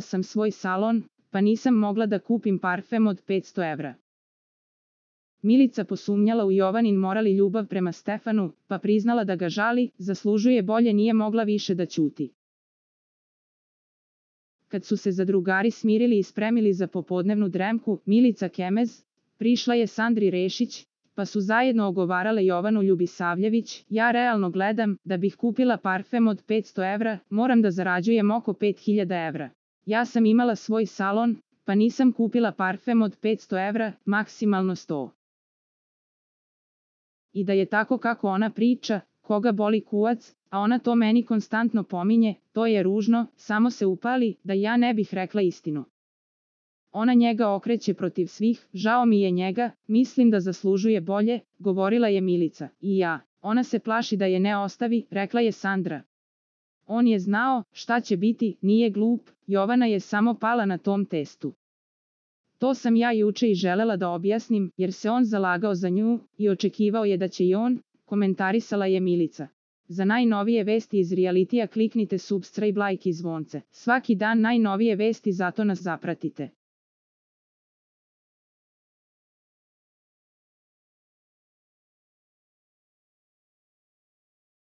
sam svoj salon, pa nisam mogla da kupim parfem od 500 evra. Milica posumnjala u Jovanin moral i ljubav prema Stefanu, pa priznala da ga žali, zaslužuje bolje, nije mogla više da ćuti. Kad su se zadrugari smirili i spremili za popodnevnu dremku, Milica Kemez prišla je Sandri Rešić, pa su zajedno ogovarale Jovanu Ljubisavljević: ja realno gledam, da bih kupila parfem od 500 evra, moram da zarađujem oko 5000 evra. Ja sam imala svoj salon, pa nisam kupila parfem od 500 evra, maksimalno 100. I da je tako kako ona priča, koga boli kuvac, a ona to meni konstantno pominje, to je ružno, samo se upali, da ja ne bih rekla istinu. Ona njega okreće protiv svih, žao mi je njega, mislim da zaslužuje bolje, govorila je Milica. I ja, ona se plaši da je ne ostavi, rekla je Sandra. On je znao šta će biti, nije glup, Jovana je samo pala na tom testu. To sam ja juče i želela da objasnim, jer se on zalagao za nju i očekivao je da će i on, komentarisala je Milica. Za najnovije vesti iz realitija kliknite subscribe, like i zvonce. Svaki dan najnovije vesti, zato nas zapratite.